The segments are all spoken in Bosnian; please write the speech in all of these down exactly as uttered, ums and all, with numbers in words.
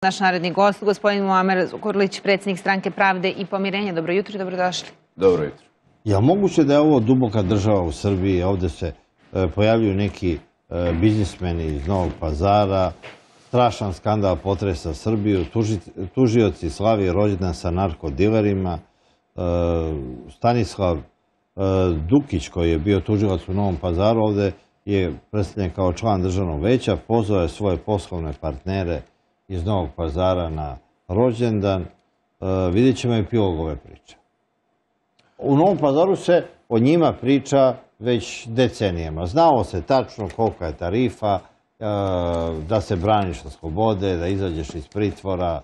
Naš naredni gost, gospodin Muamer Zukorlić, predsjednik Stranke Pravde i pomirenja. Dobro jutro i dobrodošli. Dobro jutro. Je moguće da je ovo duboka država u Srbiji? Ovdje se pojavljuju neki biznismeni iz Novog Pazara, strašan skandal potresa Srbiju, tužioci slavi rođendan sa narkodilerima, Stanislav Dukić, koji je bio tužilac u Novom Pazaru, ovdje je predstavljen kao član državnog veća, pozvao je svoje poslovne partnere iz Novog Pazara na rođendan. Vidjet ćemo epilog ove priče. U Novom Pazaru se o njima priča već decenijama. Znalo se tačno kolika je tarifa, da se braniš od slobode, da izađeš iz pritvora.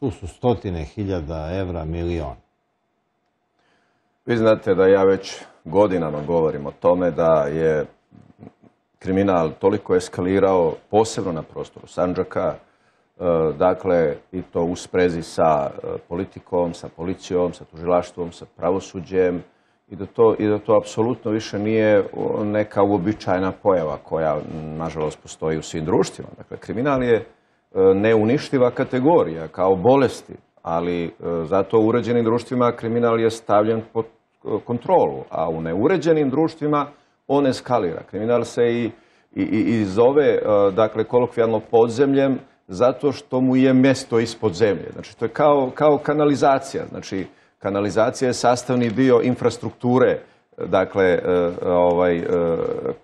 Tu su stotine hiljada evra, milion. Vi znate da ja već godinama govorim o tome da je kriminal toliko eskalirao, posebno na prostoru Sandžaka, dakle, i to u sprezi sa politikom, sa policijom, sa tužilaštvom, sa pravosuđem, i da to, i da to apsolutno više nije neka uobičajena pojava koja, nažalost, postoji u svim društvima. Dakle, kriminal je neuništiva kategorija kao bolesti, ali zato u uređenim društvima kriminal je stavljen pod kontrolu, a u neuređenim društvima on eskalira. Kriminal se i, i, i zove, dakle, kolokvijalno podzemljem, zato što mu je mjesto ispod zemlje. Znači, to je kao, kao kanalizacija. Znači, kanalizacija je sastavni dio infrastrukture, dakle, ovaj,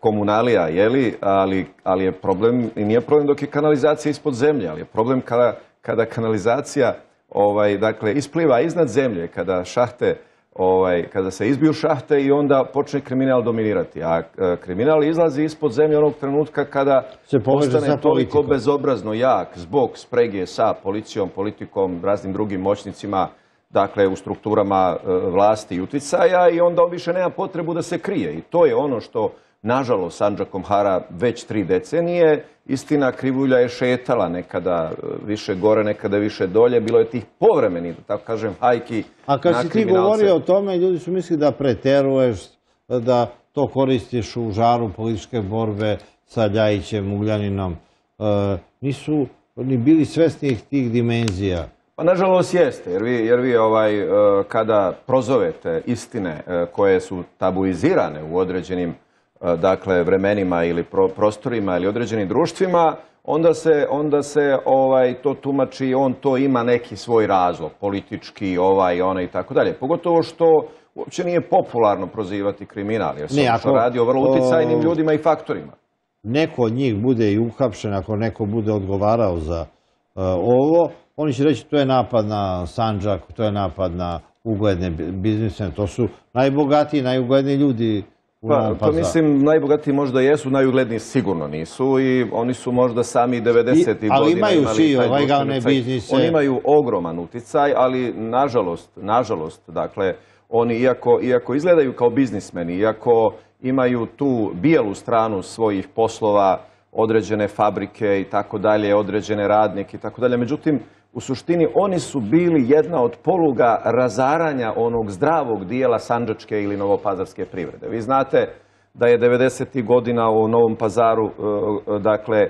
komunalija, jeli, ali, ali je problem, i nije problem dok je kanalizacija ispod zemlje, ali je problem kada, kada kanalizacija ovaj, dakle, ispliva iznad zemlje, kada šahte, ovaj, kada se izbiju šahte i onda počne kriminal dominirati. A kriminal izlazi ispod zemlje onog trenutka kada se postane toliko bezobrazno jak zbog sprege sa policijom, politikom, raznim drugim moćnicima, dakle u strukturama vlasti i uticaja, i onda on više nema potrebu da se krije. I to je ono što, nažalost, Sandžakom hara već tri decenije. Istina, krivulja je šetala, nekada više gore, nekada više dolje. Bilo je tih povremenih, da tako kažem, hajki na kriminalce. A kad si ti govorio o tome, ljudi su mislili da preteruješ, da to koristiš u žaru političke borbe sa Ljajićem, Ugljaninom. Nisu ni bili svesni tih dimenzija. Pa nažalost jeste, jer vi, jer vi ovaj, kada prozovete istine koje su tabuizirane u određenim, dakle, vremenima ili pro, prostorima ili određenim društvima, onda se, onda se ovaj, to tumači, on to ima neki svoj razlog, politički, ovaj, onaj i tako dalje. Pogotovo što uopće nije popularno prozivati kriminal, jer se ne, ako, radi o vrlo uticajnim ljudima i faktorima. Neko od njih bude i uhapšen, ako neko bude odgovarao za uh, ovo, oni će reći to je napad na Sandžak, to je napad na ugledne biznise, to su najbogatiji, najugledniji ljudi u Novom Pazaru. Pa mislim, najbogatiji možda jesu, najugledniji sigurno nisu, i oni su možda sami devedesetih godina imali... Ali imaju svi legalne biznise. Oni imaju ogroman uticaj, ali nažalost, nažalost, dakle, oni iako, iako izgledaju kao biznismeni, iako imaju tu bijelu stranu svojih poslova, određene fabrike i tako dalje, određene radnike i tako dalje, međutim, u suštini oni su bili jedna od poluga razaranja onog zdravog dijela sandžačke ili novopazarske privrede. Vi znate da je devedesetih godina u Novom Pazaru, dakle,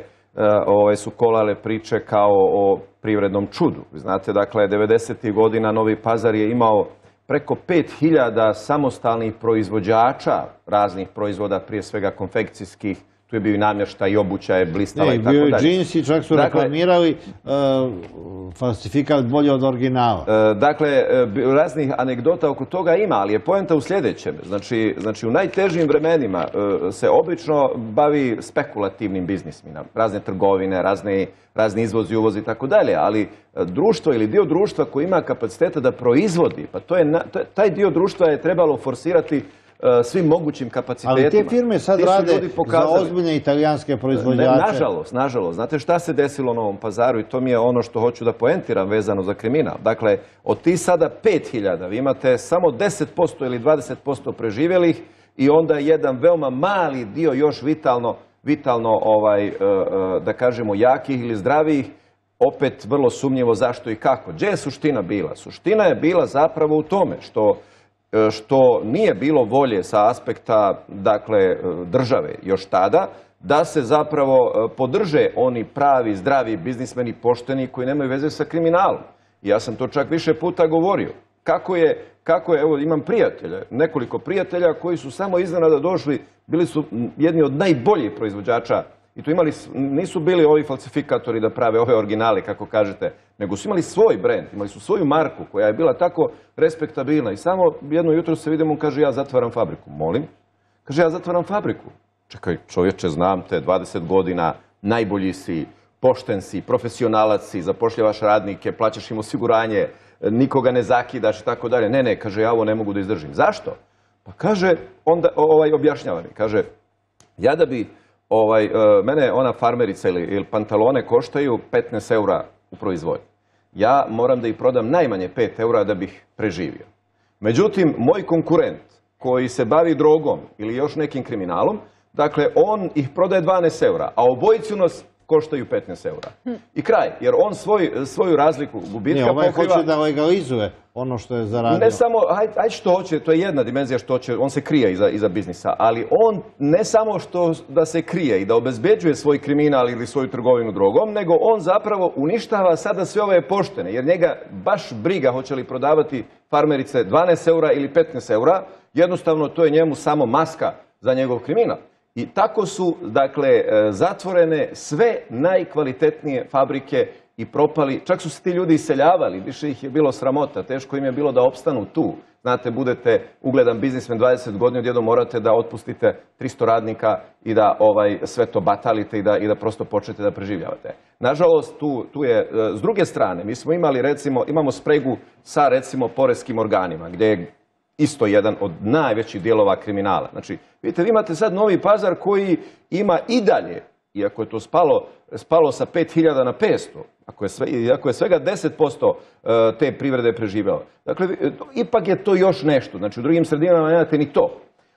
ove su kolale priče kao o privrednom čudu. Vi znate, dakle, devedesetih godina Novi Pazar je imao preko pet hiljada samostalnih proizvođača raznih proizvoda, prije svega konfekcijskih. Tu je bio i namještaj i obuća je blistala i tako dalje. Bio je džinsi, čak su reklamirali falsifikat bolje od originala. Dakle, raznih anegdota oko toga ima, ali je poenta u sljedećem. Znači, znači u najtežim vremenima se obično bavi spekulativnim biznismima, razne trgovine, razne, razni izvozi, uvozi i tako dalje, ali društvo ili dio društva koji ima kapaciteta da proizvodi, pa to je, taj dio društva je trebalo forsirati svim mogućim kapacitetima. Ali te firme sad rade za ozbiljne italijanske proizvođače. Nažalost, nažalost. Znate šta se desilo u Novom Pazaru, i to mi je ono što hoću da poentiram vezano za kriminal. Dakle, od ti sada pet hiljada vi imate samo deset posto ili dvadeset posto preživjelih, i onda jedan veoma mali dio još vitalno, vitalno ovaj, da kažemo, jakih ili zdravih, opet vrlo sumnjivo zašto i kako. Gdje je suština bila? Suština je bila zapravo u tome što što nije bilo volje sa aspekta, dakle, države još tada da se zapravo podrže oni pravi, zdravi biznismeni, pošteni koji nemaju veze sa kriminalom. I ja sam to čak više puta govorio. Kako je, kako je, evo imam prijatelje, nekoliko prijatelja koji su samo iznenada došli, bili su jedni od najboljih proizvođača i tu imali, nisu bili ovi falsifikatori da prave ove originale, kako kažete, nego su imali svoj brend, imali su svoju marku koja je bila tako respektabilna i samo jedno jutro se vidimo, on kaže ja zatvaram fabriku. Molim? Kaže ja zatvaram fabriku. Čekaj, čovječe, znam te, dvadeset godina, najbolji si, pošten si, profesionalac si, zapošljavaš radnike, plaćaš im osiguranje, nikoga ne zakidaš i tako dalje. Ne, ne, kaže, ja ovo ne mogu da izdržim. Zašto? Pa kaže, onda ovaj, objašnjava mi, kaže, ja da bi, ovaj, mene ona farmerica ili, ili pantalone koštaju petnaest eura u proizvodnji. Ja moram da ih prodam najmanje pet eura da bih preživio. Međutim, moj konkurent koji se bavi drogom ili još nekim kriminalom, dakle, on ih prodaje dvanaest eura, a obojicu nas koštaju petnaest eura. I kraj, jer on svoj, svoju razliku gubitka pokriva... Ovaj pokriva... hoće da legalizuje ono što je zaradio. Ne samo, aj, aj što hoće, to je jedna dimenzija što će, on se krije iza, iza biznisa, ali on ne samo što da se krije i da obezbeđuje svoj kriminal ili svoju trgovinu drogom, nego on zapravo uništava sada sve ove poštene, jer njega baš briga hoće li prodavati farmerice dvanaest eura ili petnaest eura, jednostavno to je njemu samo maska za njegov kriminal. I tako su, dakle, zatvorene sve najkvalitetnije fabrike i propali. Čak su se ti ljudi iseljavali, više ih je bilo sramota, teško im je bilo da opstanu tu. Znate, budete ugledan biznismen dvadeset godina, odjednom morate da otpustite tristo radnika i da ovaj, sve to batalite i da, i da prosto počnete da preživljavate. Nažalost, tu, tu je, s druge strane, mi smo imali, recimo, imamo spregu sa, recimo, poreskim organima, gdje je isto jedan od najvećih dijelova kriminala. Znači, vidite, vi imate sad Novi Pazar koji ima i dalje, iako je to spalo, spalo sa pet hiljada na petsto, ako je, sve, ako je svega deset posto te privrede preživjelo. Dakle, ipak je to još nešto. Znači, u drugim sredinama nemate ni to.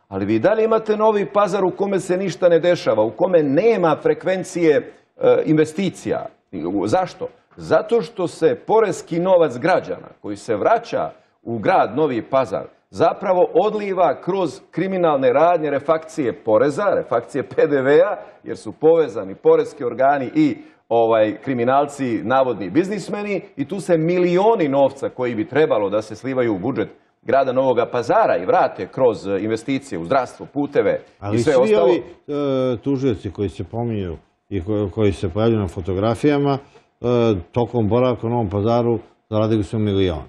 Ali vi dalje imate Novi Pazar u kome se ništa ne dešava, u kome nema frekvencije investicija. Zašto? Zato što se poreski novac građana koji se vraća u grad Novi Pazar zapravo odliva kroz kriminalne radnje, refakcije poreza, refakcije P D V-a, jer su povezani poreski organi i ovaj, kriminalci, navodni biznismeni, i tu se milioni novca koji bi trebalo da se slivaju u budžet grada Novog Pazara i vrate kroz investicije u zdravstvo, puteve ali i sve svi ostalo. Ali svi ovi e, tužioci koji se pominju i koji, koji se pojavljaju na fotografijama, e, tokom boravka u Novom Pazaru zaradili su milion.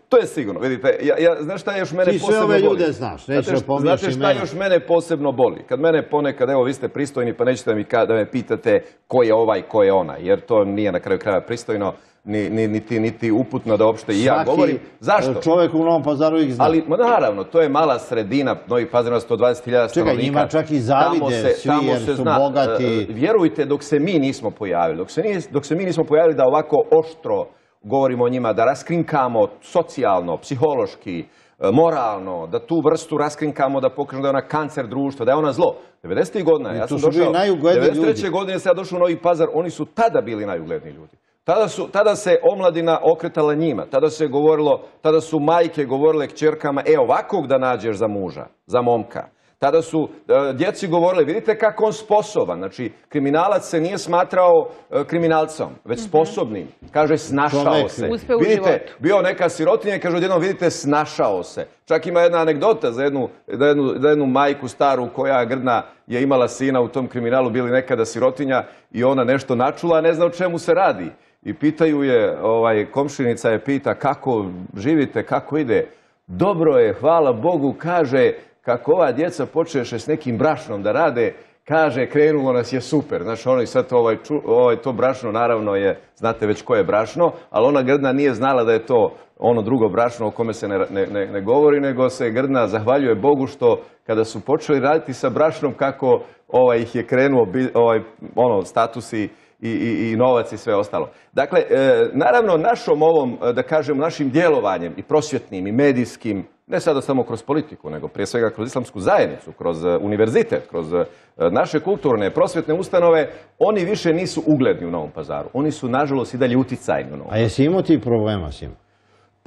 To je sigurno, vidite, ja, ja, znaš šta još mene Ti posebno boli? Ti sve ove ljude znaš, nećeš da pominješ imena. imena. Znate šta još mene posebno boli? Kad mene ponekad, evo vi ste pristojni pa nećete mi ka, da me pitate ko je ovaj, ko je ona, jer to nije na kraju kraja pristojno, ni, ni, niti, niti uputno da uopšte i ja govorim. Zašto? Čovjek u Novom Pazaru ih zna. Ali, naravno, to je mala sredina, Novi Pazar na sto dvadeset hiljada stanovnika. Čekaj, njima čak i zavide se, svi jer su zna, bogati. Vjerujte, dok se mi nismo pojavili, dok se, nije, dok se mi nismo pojavili da ovako oštro govorimo o njima, da raskrinkamo socijalno, psihološki, moralno, da tu vrstu raskrinkamo, da pokažemo da je ona kancer društva, da je ona zlo. devedesetih godina, ja sam došao, devedeset treće godine sam ja došao u Novi Pazar, oni su tada bili najugledniji ljudi. Tada, su, tada se omladina okretala njima, tada se govorilo, tada su majke govorile kćerkama, e ovakvog da nađeš za muža, za momka. Tada su uh, djeci govorili, vidite kako on sposoban. Znači, kriminalac se nije smatrao uh, kriminalcom, već sposobnim. Kaže, snašao Čovek, se. Uspe u vidite, životu. bio neka sirotinja i kaže odjednom, vidite, snašao se. Čak ima jedna anegdota za jednu, za jednu, za jednu majku staru koja grdna je imala sina u tom kriminalu, bili nekada sirotinja i ona nešto načula, a ne zna o čemu se radi. I pitaju je, ovaj, komšinica je pita kako živite, kako ide. Dobro je, hvala Bogu, kaže, kako ova djeca počeše s nekim brašnom da rade, kaže, krenulo nas je super. Znači, ono i sad ovaj, ovaj, to brašno, naravno je, znate već koje je brašno, ali ona grdna nije znala da je to ono drugo brašno o kome se ne, ne, ne, ne govori, nego se grdna zahvaljuje Bogu što kada su počeli raditi sa brašnom, kako ovaj, ih je krenuo ovaj, ono, statusi I, i, i novac i sve ostalo. Dakle, e, naravno, našom ovom, da kažem, našim djelovanjem i prosvjetnim i medijskim, ne sada samo kroz politiku, nego prije svega kroz islamsku zajednicu, kroz univerzitet, kroz naše kulturne, prosvjetne ustanove, oni više nisu ugledni u Novom Pazaru. Oni su, nažalost, i dalje uticajni u Novom Pazaru. A jesi imao ti problema s njim?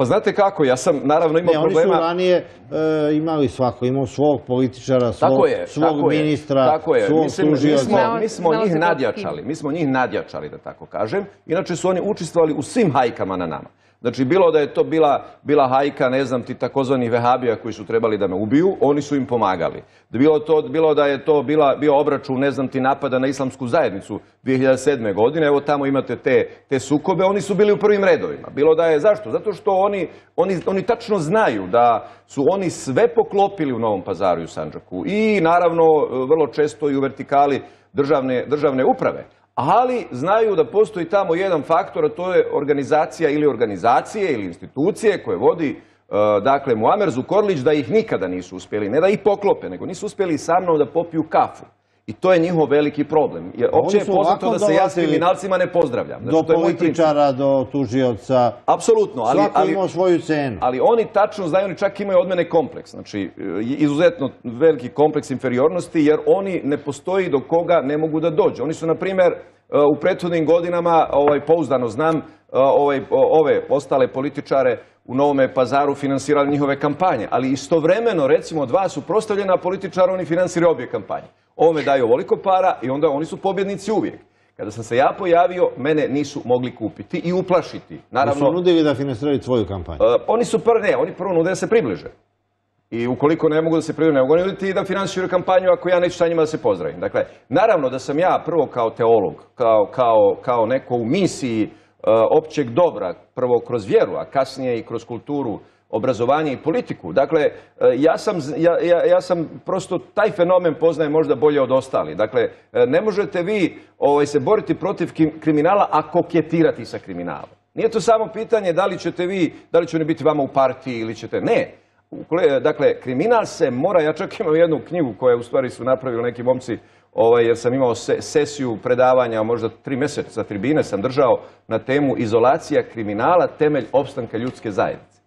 Pa znate kako, ja sam naravno imao ne, problema... Oni su ranije e, imali svako, imao svog političara, svog, tako je, svog tako ministra, je, tako je. svog Mislim, tužioca. Mi smo, mi smo njih nadjačali, mi smo njih nadjačali, da tako kažem. Inače su oni učestvovali u svim hajkama na nama. Znači, bilo da je to bila, bila hajka, ne znam ti, takozvanih vehabija koji su trebali da me ubiju, oni su im pomagali. Bilo, to, bilo da je to bila, bio obračun, ne znam ti, napada na islamsku zajednicu dvije hiljade sedme. godine, evo tamo imate te, te sukobe, oni su bili u prvim redovima. Bilo da je, zašto? Zato što oni, oni, oni tačno znaju da su oni sve poklopili u Novom Pazaru i u Sandžaku. I naravno, vrlo često i u vertikali državne, državne uprave. Ali znaju da postoji tamo jedan faktor, a to je organizacija ili organizacije ili institucije koje vodi, dakle, Muamer Zukorlić, da ih nikada nisu uspjeli, ne da ih poklope, nego nisu uspjeli sa mnom da popiju kafu. I to je njihov veliki problem. Jer opće je poznato da se ja s kriminalcima ne pozdravljam. Do političara, do tužioca. Apsolutno. Svako imao svoju cenu. Ali oni tačno znaju, oni čak imaju od mene kompleks. Znači, izuzetno veliki kompleks inferiornosti, jer oni ne postoji do koga ne mogu da dođu. Oni su, na primjer, u prethodnim godinama, ovaj, pouzdano znam, ovaj, ove ostale političare u Novome Pazaru finansirali njihove kampanje. Ali istovremeno, recimo, dva su prostavljena političara, oni finansiraju obje kampanje. Ovome daju ovoliko para i onda oni su pobjednici uvijek. Kada sam se ja pojavio, mene nisu mogli kupiti i uplašiti. Naravno, su nudili da finansiraju tvoju kampanju? Uh, oni su prvo, ne, oni prvo nude da se približe. I ukoliko ne mogu da se približe, ne mogu nuditi da finansiraju kampanju ako ja neću sa njima da se pozdravim. Dakle, naravno da sam ja prvo kao teolog, kao, kao, kao neko u misiji uh, općeg dobra, prvo kroz vjeru, a kasnije i kroz kulturu, obrazovanje i politiku. Dakle, ja sam, ja, ja, ja sam prosto taj fenomen poznajem možda bolje od ostali. Dakle, ne možete vi ovaj, se boriti protiv kriminala, a koketirati sa kriminalom. Nije to samo pitanje da li ćete vi, da li će oni biti vama u partiji ili ćete... Ne. Dakle, kriminal se mora, ja čak imam jednu knjigu koju u stvari su napravili neki momci, ovaj, jer sam imao se, sesiju predavanja, možda tri mjeseca tribine sam držao na temu izolacija kriminala, temelj opstanka ljudske zajednice.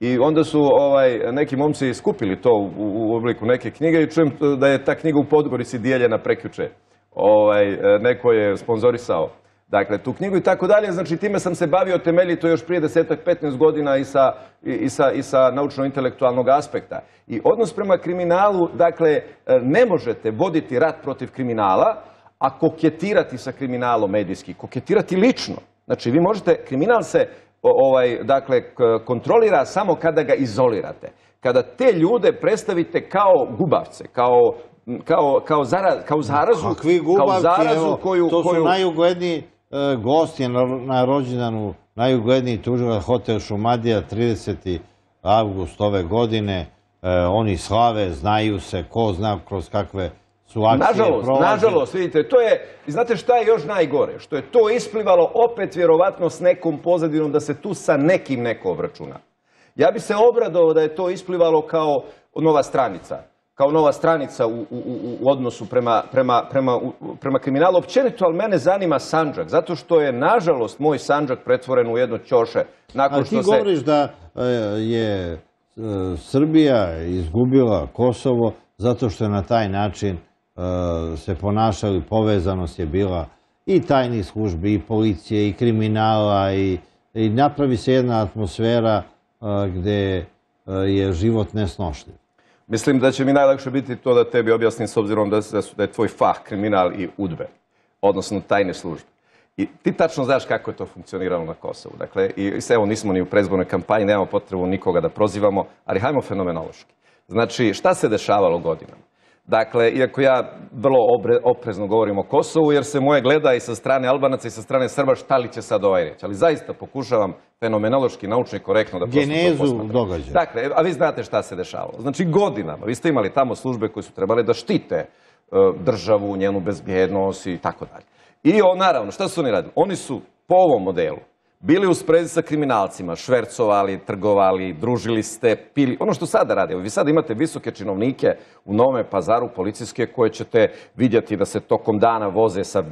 I onda su ovaj, neki momci skupili to u, u obliku neke knjige i čujem da je ta knjiga u Podgorici dijeljena prekjuče. Ovaj, neko je sponzorisao dakle, tu knjigu i tako dalje. Znači, time sam se bavio temeljito još prije desetak, petnaest godina i sa, i sa, i sa naučno-intelektualnog aspekta. I odnos prema kriminalu, dakle, ne možete voditi rat protiv kriminala, a koketirati sa kriminalom medijski, koketirati lično. Znači, vi možete, kriminal se ovaj, dakle, kontrolira samo kada ga izolirate. Kada te ljude predstavite kao gubavce, kao, kao, kao, zara, kao zarazu, Kakvi gubavci, kao zarazu evo, koju... To su koju... najugledniji e, gosti na, na rođendanu, najugledniji tužilac Hotel Šumadija, trideseti avgust ove godine. E, oni slave, znaju se, ko zna kroz kakve su akcije nažalost, prolaze. Nažalost, vidite, to je, znate šta je još najgore? Što je to isplivalo opet vjerovatno s nekom pozadinom da se tu sa nekim neko obračuna. Ja bi se obradovao da je to isplivalo kao nova stranica. Kao nova stranica u, u, u odnosu prema, prema, prema, prema kriminalu. Općenito, ali mene zanima Sandžak. Zato što je, nažalost, moj Sandžak pretvoren u jedno ćoše. Ali ti govoriš da je Srbija izgubila Kosovo zato što je na taj način se ponašali, povezanost je bila i tajnih službi, i policije, i kriminala, i, i napravi se jedna atmosfera gdje je život nesnošljiv. Mislim da će mi najlakše biti to da tebi objasnim s obzirom da, da je tvoj fah kriminal i udbe, odnosno tajne službe. I ti tačno znaš kako je to funkcioniralo na Kosovu. Dakle, i evo nismo ni u predizbornoj kampanji, nemamo potrebu nikoga da prozivamo, ali hajmo fenomenološki. Znači, šta se dešavalo godinama? Dakle, iako ja vrlo oprezno govorim o Kosovu, jer se moje gleda i sa strane Albanaca i sa strane Srba, šta li će sad ovaj reći. Ali zaista pokušavam fenomenološki, naučno i korektno da prosto to posmatram. Genezu događaja. Dakle, a vi znate šta se dešavalo. Znači, godinama, vi ste imali tamo službe koje su trebale da štite državu, njenu bezbjednost i tako dalje. I on, naravno, šta su oni radili? Oni su po ovom modelu bili u sprezi sa kriminalcima, švercovali, trgovali, družili ste, pili. Ono što sada radi, vi sada imate visoke činovnike u Novome Pazaru, policijske, koje ćete vidjeti da se tokom dana voze sa,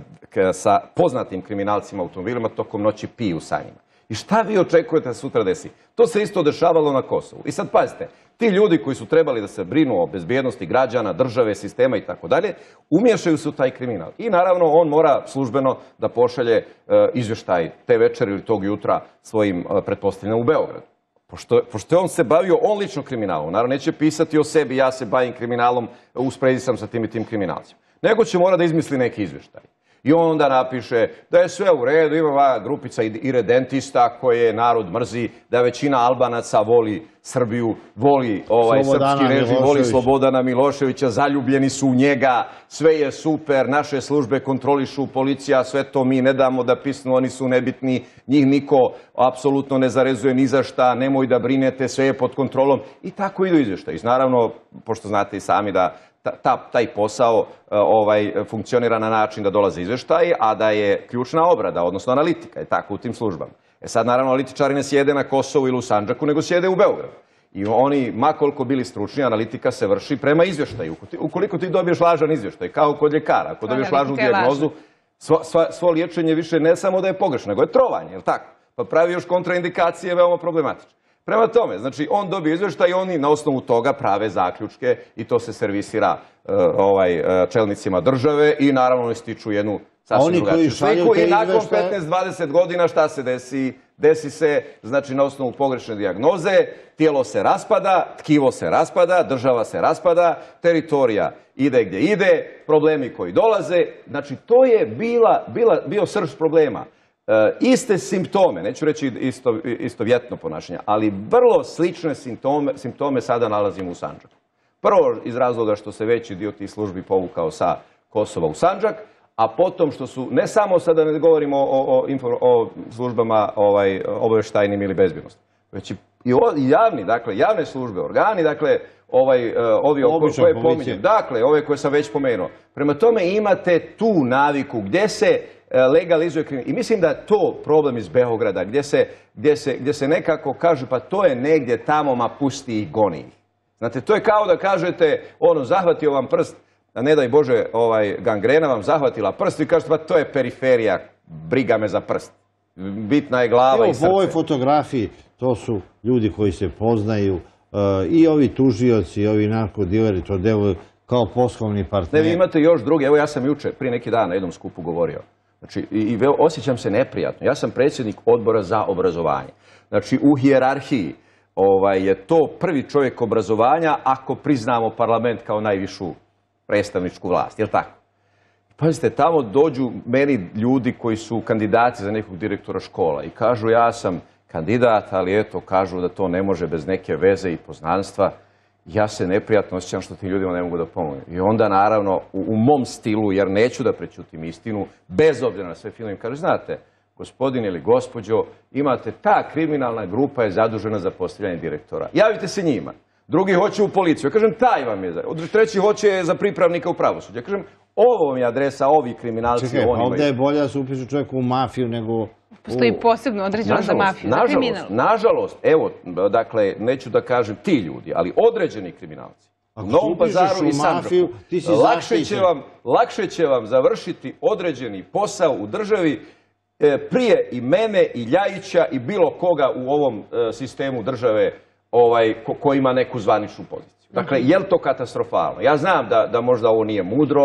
sa poznatim kriminalcima automobilima, tokom noći piju sa njima. I šta vi očekujete da sutra desi? To se isto dešavalo na Kosovu. I sad pazite, ti ljudi koji su trebali da se brinu o bezbjednosti građana, države, sistema i tako dalje, umješaju se u taj kriminal. I naravno on mora službeno da pošalje e, izvještaj te večeri ili tog jutra svojim e, pretpostavljenim u Beogradu. Pošto, pošto on se bavio on lično kriminalom, naravno neće pisati o sebi, ja se bavim kriminalom, u sprezi sam sa tim i tim kriminalcima. Nego će mora da izmisli neki izvještaj. I on onda napiše da je sve u redu, ima grupica iredentista koje narod mrzi, da većina Albanaca voli Srbiju, voli ovaj srpski režim, voli Slobodana Miloševića, zaljubljeni su u njega, sve je super, naše službe kontrolišu, policija, sve to mi ne damo da pisnu, oni su nebitni, njih niko apsolutno ne zarezuje ni za šta, nemoj da brinete, sve je pod kontrolom i tako idu izvještaji. Naravno, pošto znate i sami da Ta, ta, taj posao ovaj, funkcionira na način da dolaze izveštaji, a da je ključna obrada, odnosno analitika, je tako u tim službama. E sad, naravno, analitičari ne sjede na Kosovu ili u Sandžaku, nego sjede u Beogradu. I oni, ma koliko bili stručni, analitika se vrši prema izvještaju. Ukoliko ti dobiješ lažan izvještaj, kao kod ljekara, ako dobiješ lažnu dijagnozu, svo, svo liječenje više ne samo da je pogrešno, nego je trovanje, je li tako? Pa pravi još kontraindikacije veoma problematične. Prema tome, znači, on dobije izvještaj i oni na osnovu toga prave zaključke i to se servisira uh, ovaj, uh, čelnicima države i naravno oni stiču jednu sasvim drugačiju sliku. I nakon petnaest dvadeset godina šta se desi? Desi se, znači, na osnovu pogrešne dijagnoze, tijelo se raspada, tkivo se raspada, država se raspada, teritorija ide gdje ide, problemi koji dolaze. Znači, to je bila, bila, bio srž problema. E, iste simptome, neću reći isto, istovjetno ponašanje, ali vrlo slične simptome, simptome sada nalazimo u Sandžaku. Prvo iz razloga što se veći dio tih službi povukao sa Kosova u Sandžak, a potom što su, ne samo sada ne govorimo o, o, o službama ovaj, obavještajnim ili bezbjednosti, već i javni, dakle, javne službe, organi, dakle, ovaj, ovi koje pominjem, dakle, ove koje sam već pomenuo. Prema tome imate tu naviku gdje se legalizuje kriminal. I mislim da je to problem iz Beograda, gdje se, gdje se, gdje se nekako kaže, pa to je negdje tamo, ma pusti ih, goni ih. Znate, to je kao da kažete, ono, zahvatio vam prst, a ne daj Bože, ovaj, gangrena vam zahvatila prst i kažete, pa to je periferija, briga me za prst. Bitna je glava Evo, i srce. U ovoj fotografiji to su ljudi koji se poznaju, uh, i ovi tužioci, i ovi narkodileri, to deluju kao poslovni partneri. Ne, vi imate još druge. Evo, ja sam juče, prije neki dan na jednom skupu govorio. Znači, i, i osjećam se neprijatno. Ja sam predsjednik odbora za obrazovanje. Znači, u hijerarhiji ovaj, je to prvi čovjek obrazovanja ako priznamo parlament kao najvišu predstavničku vlast. Je li tako? Pazite, tamo dođu meni ljudi koji su kandidati za nekog direktora škola i kažu ja sam kandidat, ali eto, kažu da to ne može bez neke veze i poznanstva. Ja se neprijatno osjećam što tim ljudima ne mogu da pomognem. I onda, naravno, u, u mom stilu, jer neću da prećutim istinu, bez obzira na sve filme, kažu, znate, gospodin ili gospođo, imate, ta kriminalna grupa je zadužena za postavljanje direktora. Javite se njima. Drugi hoće u policiju. Ja kažem, taj vam je. Treći hoće za pripravnika u pravosuđu. Ja kažem, ovo vam je adresa, ovi kriminalci. Čekaj, pa ovdje je bolje da se upišu čovjeku u mafiju nego... Postoji posebno određeno za mafiju, za kriminal. Nažalost, evo, dakle, neću da kažem ti ljudi, ali određeni kriminalci. U Novom Pazaru i Sandžaku. Lakše će vam, lakše će vam završiti određeni posao u državi prije i mene i Ljajića i bilo koga u ovom sistemu države ovaj, ko, ko ima neku zvaničnu poziciju. Dakle, je li to katastrofalno? Ja znam da, da možda ovo nije mudro,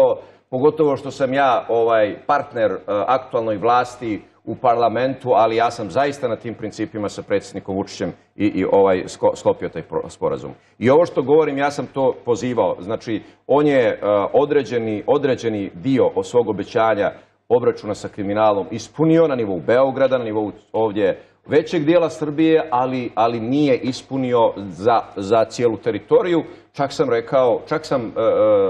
pogotovo što sam ja ovaj, partner uh, aktualnoj vlasti u parlamentu, ali ja sam zaista na tim principima sa predsjednikom Vučićem i, i ovaj, sko, sklopio taj sporazum. I ovo što govorim, ja sam to pozivao. Znači, on je uh, određeni, određeni dio od svog obećanja obračuna sa kriminalom ispunio na nivou Beograda, na nivou ovdje većeg dijela Srbije, ali, ali nije ispunio za, za cijelu teritoriju. Čak sam rekao, čak sam uh,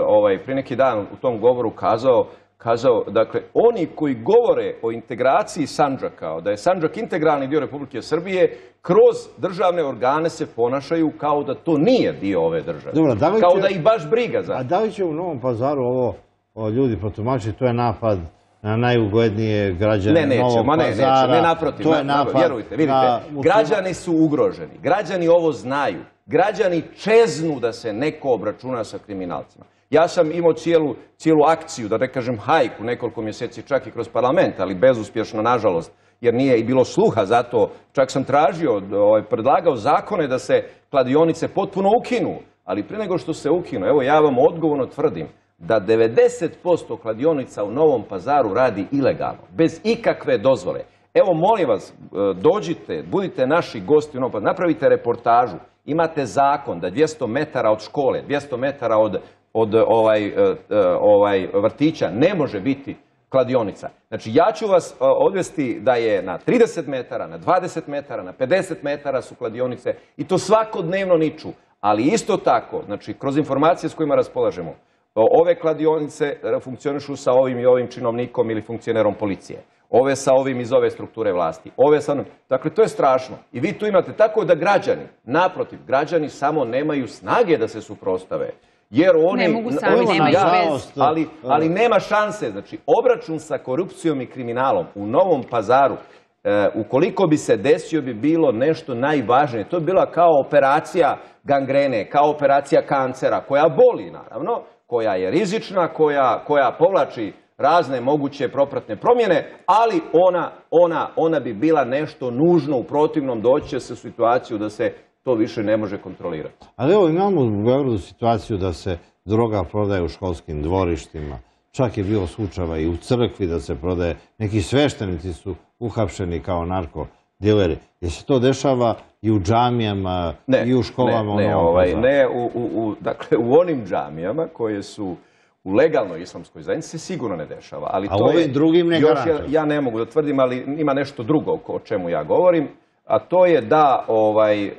ovaj, prije neki dan u tom govoru kazao, kazao, dakle, oni koji govore o integraciji Sandžaka, da je Sandžak integralni dio Republike Srbije, kroz državne organe se ponašaju kao da to nije dio ove države. Dobro, da kao će, da ih baš briga za. A da li će u Novom Pazaru ovo o, ljudi protumačiti, to je napad na najugodnije građane ne, neće, Novog ma ne, Pazara. Ne, ne, naprotiv. To je napad. Vjerujte, vidite, na, građani su ugroženi. Građani ovo znaju. Građani čeznu da se neko obračuna sa kriminalcima. Ja sam imao cijelu, cijelu akciju, da ne kažem hajku, nekoliko mjeseci čak i kroz parlament, ali bezuspješno, nažalost, jer nije i bilo sluha za to. Čak sam tražio, ovaj, predlagao zakone da se kladionice potpuno ukinu. Ali prije nego što se ukinu, evo ja vam odgovorno tvrdim, da devedeset posto kladionica u Novom Pazaru radi ilegalno, bez ikakve dozvole. Evo, molim vas, dođite, budite naši gosti u Novom Pazaru, napravite reportažu, imate zakon da dvjesto metara od škole, dvjesto metara od, od ovaj, ovaj, vrtića ne može biti kladionica. Znači, ja ću vas odvesti da je na trideset metara, na dvadeset metara, na pedeset metara su kladionice i to svakodnevno niču. Ali isto tako, znači, kroz informacije s kojima raspolažemo, ove kladionice funkcionišu sa ovim i ovim činovnikom ili funkcionerom policije. Ove sa ovim iz ove strukture vlasti. Ove sa... Dakle, to je strašno. I vi tu imate tako da građani, naprotiv, građani samo nemaju snage da se suprostave. Jer oni... Ne mogu sami, oni, nemaju ja, bez. Ali, ali nema šanse. Znači, obračun sa korupcijom i kriminalom u Novom Pazaru, e, ukoliko bi se desio, bi bilo nešto najvažnije. To bi bila kao operacija gangrene, kao operacija kancera, koja boli, naravno, koja je rizična, koja, koja povlači razne moguće propratne promjene, ali ona, ona, ona bi bila nešto nužno, u protivnom doći će se u situaciju da se to više ne može kontrolirati. Ali evo, imamo u Beogradu situaciju da se droga prodaje u školskim dvorištima. Čak je bilo slučajeva i u crkvi da se prodaje. Neki sveštenici su uhapšeni kao narkodileri. Je se to dešava i u džamijama, ne, i u školama? Ne, ne, u Novom ovaj, Pazaru? ne u, u, u, dakle, u onim džamijama koje su u legalnoj islamskoj zajednici se sigurno ne dešava. Ali a to ovim je, drugim ne još garantuju? ja, ja ne mogu da tvrdim, ali ima nešto drugo o čemu ja govorim, a to je da, ovaj, e,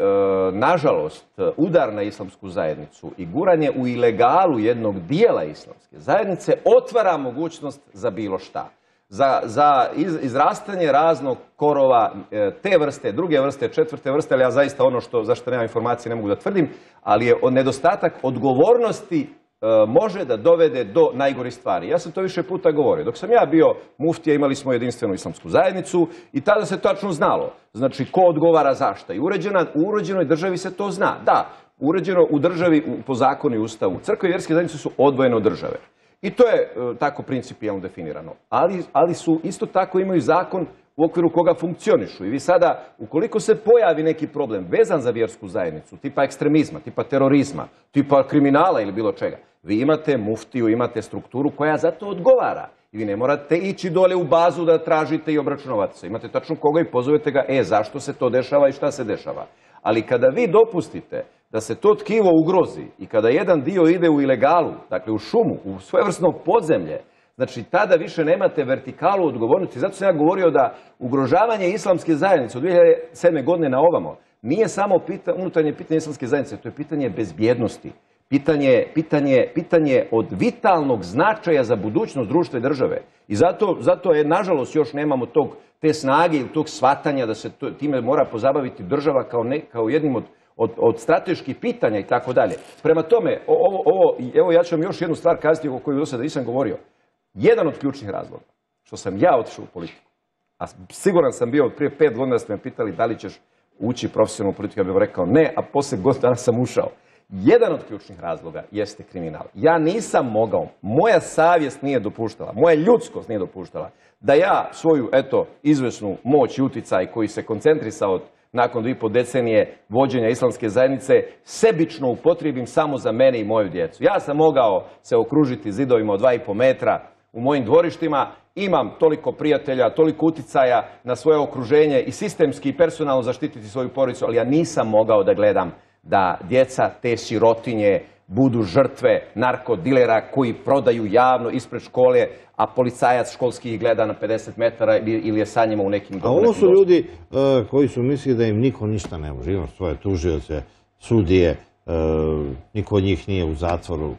nažalost, udar na islamsku zajednicu i guranje u ilegalu jednog dijela islamske zajednice otvara mogućnost za bilo šta. Za, za iz, izrastanje raznog korova e, te vrste, druge vrste, četvrte vrste, ali ja zaista ono što, za što nemam informacije ne mogu da tvrdim, ali je nedostatak odgovornosti može da dovede do najgorih stvari. Ja sam to više puta govorio. Dok sam ja bio muftija, imali smo jedinstvenu islamsku zajednicu i tada se tačno znalo. Znači, ko odgovara za šta. I uređena, u uređenoj državi se to zna. Da, uređeno u državi, po zakonu i ustavu. Crkve i vjerske zajednice su odvojene od države. I to je tako principijalno definirano. Ali, ali su isto tako imaju zakon u okviru koga funkcionišu. I vi sada, ukoliko se pojavi neki problem vezan za vjersku zajednicu, tipa ekstremizma, tipa terorizma, tipa kriminala ili bilo čega, vi imate muftiju, imate strukturu koja za to odgovara. I vi ne morate ići dole u bazu da tražite i obračunavate se. Imate tačno koga i pozovete ga, e, zašto se to dešava i šta se dešava. Ali kada vi dopustite da se to tkivo ugrozi i kada jedan dio ide u ilegalu, dakle u šumu, u svojevrsno podzemlje, znači, tada više nemate vertikalu odgovornosti. Zato sam ja govorio da ugrožavanje islamske zajednice od dvije hiljade sedme. godine na ovamo nije samo pita, unutarnje pitanje islamske zajednice, to je pitanje bezbjednosti. Pitanje, pitanje, pitanje od vitalnog značaja za budućnost društva i države. I zato, zato je, nažalost, još nemamo tog, te snage ili tog shvatanja da se to, time mora pozabaviti država kao, ne, kao jednim od, od, od strateških pitanja i tako dalje. Prema tome, ovo, ovo, evo ja ću vam još jednu stvar kazati o kojoj do sada nisam govorio. Jedan od ključnih razloga što sam ja otišao u politiku, a siguran sam bio od prije pet godina da ste me pitali da li ćeš ući profesionalnu politiku, ja bih rekao ne, a poslije godina dana sam ušao. Jedan od ključnih razloga jeste kriminal. Ja nisam mogao, moja savjest nije dopuštala, moja ljudskost nije dopuštala da ja svoju, eto, izvesnu moć i uticaj koji se koncentrisao nakon dvije i po decenije vođenja islamske zajednice, sebično upotrijebim samo za mene i moju djecu. Ja sam mogao se okružiti zidovima od dva i po metra u mojim dvorištima, imam toliko prijatelja, toliko uticaja na svoje okruženje i sistemski i personalno zaštititi svoju porodicu, ali ja nisam mogao da gledam da djeca te sirotinje budu žrtve narkodilera koji prodaju javno ispred škole, a policajac školski ih gleda na pedeset metara ili je sa njima u nekim... A ovo su ljudi uh, koji su mislili da im niko ništa ne može. Imam svoje tužioce, sudije, uh, niko od njih nije u zatvoru.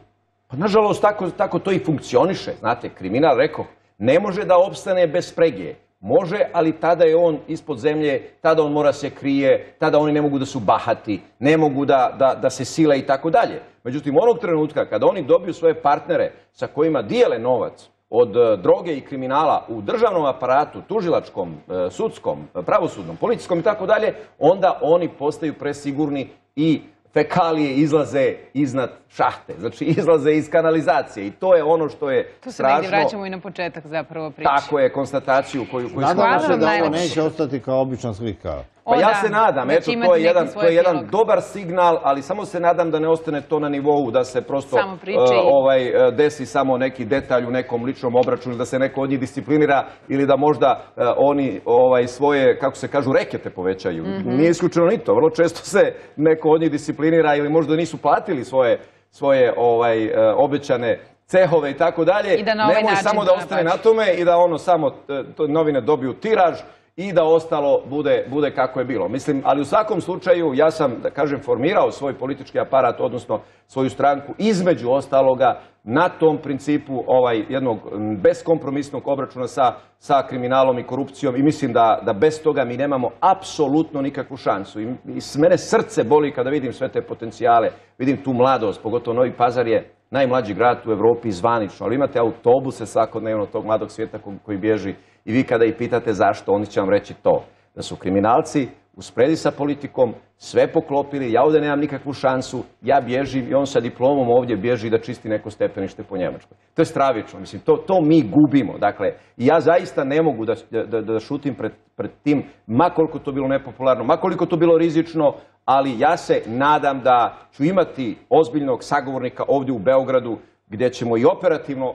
Pa nažalost, tako, tako to i funkcioniše. Znate, kriminal, rekao, ne može da opstane bez sprege. Može, ali tada je on ispod zemlje, tada on mora se krije, tada oni ne mogu da su bahati, ne mogu da, da, da se sile i tako dalje. Međutim, onog trenutka kada oni dobiju svoje partnere sa kojima dijele novac od droge i kriminala u državnom aparatu, tužilačkom, sudskom, pravosudnom, policijskom i tako dalje, onda oni postaju presigurni i fekalije izlaze iznad šahte, znači izlaze iz kanalizacije i to je ono što je strašno. Tu se negdje vraćamo i na početak zapravo priče. Tako je, konstataciju koju, koju Nadamo smo... se da ovo neće ostati kao obična slika. Pa O, ja da, se nadam, da će eto, imati to je neki jedan, svoj to je jedan epilog. dobar signal, ali samo se nadam da ne ostane to na nivou da se prosto Samo priče uh, i- ovaj, uh, desi samo neki detalj u nekom ličnom obračunu, da se neko od njih disciplinira ili da možda uh, oni ovaj, svoje, kako se kažu, rekete povećaju. Mhm. Nije isključeno ni to. Vrlo često se neko od njih disciplinira ili možda nisu platili svoje, svoje ovaj, uh, obećane cehove i tako dalje. I da na ovaj Nemoj način samo to da ostane na nabači. tome i da ono samo uh, to novine dobiju tiraž i da ostalo bude, bude kako je bilo. Mislim, ali u svakom slučaju ja sam, da kažem, formirao svoj politički aparat, odnosno svoju stranku, između ostaloga na tom principu ovaj, jednog beskompromisnog obračuna sa, sa kriminalom i korupcijom i mislim da, da bez toga mi nemamo apsolutno nikakvu šansu. I, i s mene srce boli kada vidim sve te potencijale, vidim tu mladost, pogotovo Novi Pazar je najmlađi grad u Evropi zvanično, ali imate autobuse svakodnevno tog mladog svijeta koji bježi i vi kada ih pitate zašto, oni će vam reći to, da su kriminalci u spredi sa politikom sve poklopili, ja ovdje nemam nikakvu šansu, ja bježim i on sa diplomom ovdje bježi da čisti neko stepenište po Njemačkoj. To je stravično, mislim, to, to mi gubimo. Dakle, ja zaista ne mogu da, da, da šutim pred, pred tim, ma koliko to bilo nepopularno, ma koliko to bilo rizično, ali ja se nadam da ću imati ozbiljnog sagovornika ovdje u Beogradu gdje ćemo i operativno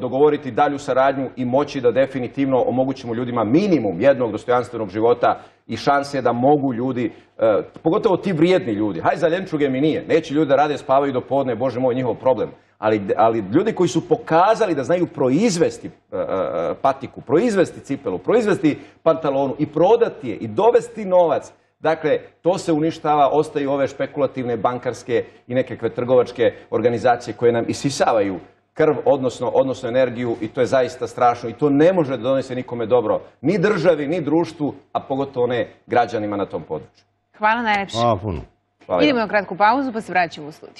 dogovoriti dalju saradnju i moći da definitivno omogućimo ljudima minimum jednog dostojanstvenog života i šanse da mogu ljudi, pogotovo ti vrijedni ljudi, haj za ljenčuge mi nije, neće ljudi da rade, spavaju do podne, bože moj, njihov problem, ali, ali ljudi koji su pokazali da znaju proizvesti patiku, proizvesti cipelu, proizvesti pantalonu i prodati je i dovesti novac. Dakle, to se uništava, ostaju ove špekulativne, bankarske i nekakve trgovačke organizacije koje nam isisavaju krv, odnosno, odnosno energiju i to je zaista strašno i to ne može da donese nikome dobro, ni državi, ni društvu, a pogotovo ne građanima na tom području. Hvala najlepše. Hvala puno. Hvala. Idemo na kratku pauzu pa se vraćamo u studiju.